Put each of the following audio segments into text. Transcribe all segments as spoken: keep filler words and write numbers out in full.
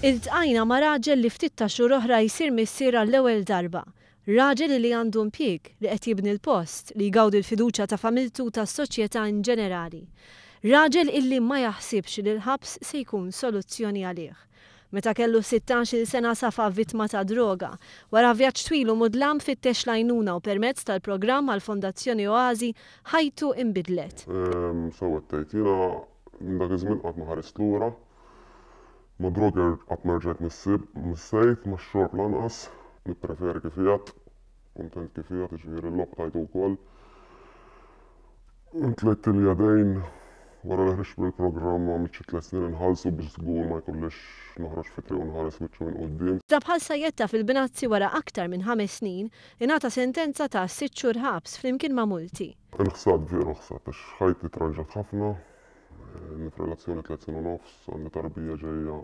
Iltqajna ma' raġel li ftit ta' xhur oħra jsir missier għall-ewwel darba. Raġel li għandu impjieg, li qed jibni l-post, li jgawdi l-fiduċja ta' familtu u tas-soċjetà in ġenerali. Raġel illi ma jaħsibx li l-ħabs se jkun soluzzjoni għalih. Meta kellu sittax-il sena safa vittma ta' droga. Wara vjaġġ twil u mudlam fittex l-għajnuna u permezz tal-programm għall-Fondazzjoni Oasi ħajtu imbidlet. Sewwa tgħid, jiena minn dak iż-żmien qatt ma ħarist lura. Ma droga qatt ma rġajt missejt, ma xorb lanqas, nippreferi kif qiegħed, kuntent kif qiegħed, jiġifieri l-logħob tajtu wkoll. Tlejt il-jadejn wara li ħriġt mill-programm, għamilt xi tliet snin inħallsu biex żgur ma jkollix noħroġ fit-triq u nħares wiċċu minn quddiem. Iżda bħal sajjetta fil-binazzi, wara aktar minn ħames snin ingħata sentenza ta' sitt xhur ħabs flimkien ma' multi. Inħsad, veru ħsad, għax ħajti tranġat ħafna. F'relazzjoni tliet snin u nofs, għandi tarbija ġejja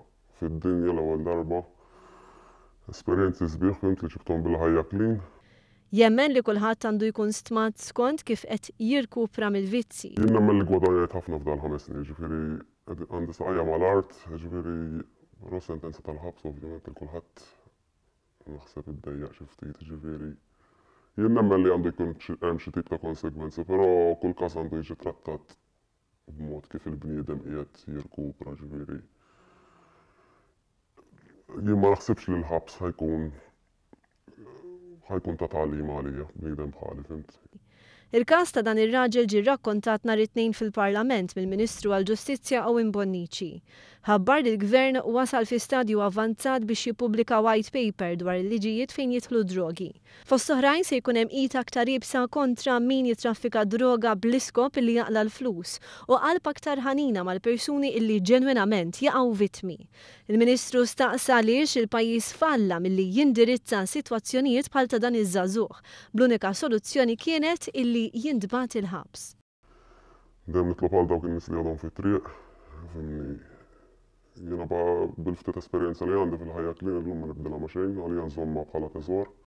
fid-dinja l-ewwel darba. Esperjenzi sbieħ, fhimt, li ġibthom bil-ħajja clean. Jemmen li kulħadd għandu jkun stmat skont kif qed jirkupra mill-vizzi. Jien nemmen li gwadanjajt ħafna f'dal ħames snin, ġifieri għandi saqajja mal-art, ġifieri però sentenza tal-ħabs ovvjament il kulħadd naħseb iddejjaq xi ftit, ġifieri jien nemmen li għandu jkun hemm xi tip ta' konsegwenzi, però kull każ għandu jiġi trattat b'mod kif il-bniedem qiegħed jirkupra, ġifieri jien ma naħsibx li l-ħabs ħa jkun ħa jkun ta' tagħlim għalija, bniedem bħali, fhimt. Il-każ ta' dan ir-raġel ġie rrakkontat nhar it-Tnejn fil-Parlament mill-Ministru għall-Ġustizzja Owen Bonnici. Ħabbar li l-Gvern wasal fi stadju avanzat biex jippubblika white paper dwar il-liġijiet fejn jidħlu drogi. Fost oħrajn se jkun hemm id aktar iebsa kontra min jitraffika droga bl-iskop illi jaqla l-flus u qalb aktar ħanina mal-persuni illi ġenwinament jaqgħu vittmi. Il-Ministru staqsa għaliex il-pajjiż falla milli jindirizza sitwazzjonijiet bħal ta' dan iż-żagħżugħ. Bl-unika soluzzjoni kienet illi jintbagħat il-ħabs. Dejjem nitlob għal dawk in-nies li għadhom fit-triq, fhimni, jiena bil-ftit esperjenza li għandi fil-ħajja clean illum ma nibdilha ma' xejn, għalija nżommha bħala teżor.